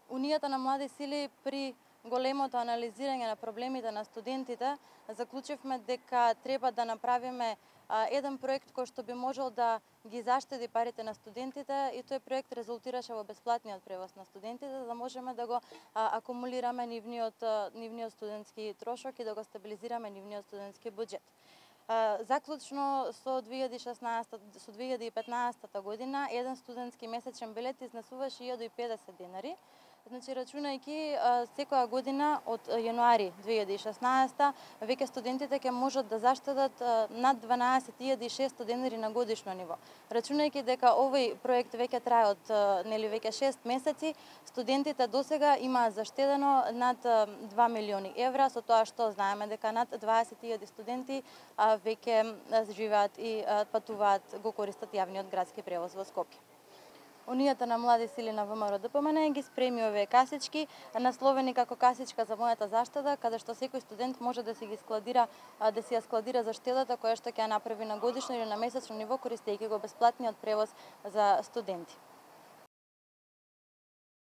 Унијата на млади сили при големото анализирање на проблемите на студентите заклучивме дека треба да направиме еден проект кој што би можел да ги заштеди парите на студентите, и тој проект резултираше во бесплатниот превоз на студентите, за да можеме да го акумулираме нивниот студентски трошок и да го стабилизираме нивниот студентски буџет. Заклучно со 2015 година еден студентски месечен билет изнесуваше 1050 денари. Значи, рачунајќи секоја година од јануари 2016 веќе студентите ќе можат да заштедат над 12.600 денари на годишно ниво. Рачунајќи дека овој проект веќе трае од веќе 6 месеци, студентите досега имаат заштедено над 2 милиони евра, со тоа што знаеме дека над 20.000 студенти веќе живеат и патуваат, го користат јавниот градски превоз во Скопје. Унијата на млади сили на ВМРО ДПМН ги спреми овие касички, насловени како касичка за мојата заштеда, каде што секој студент може да си ја складира заштедата која што ќе ја направи на годишно или на месечно ниво, користејќи го бесплатниот превоз за студенти.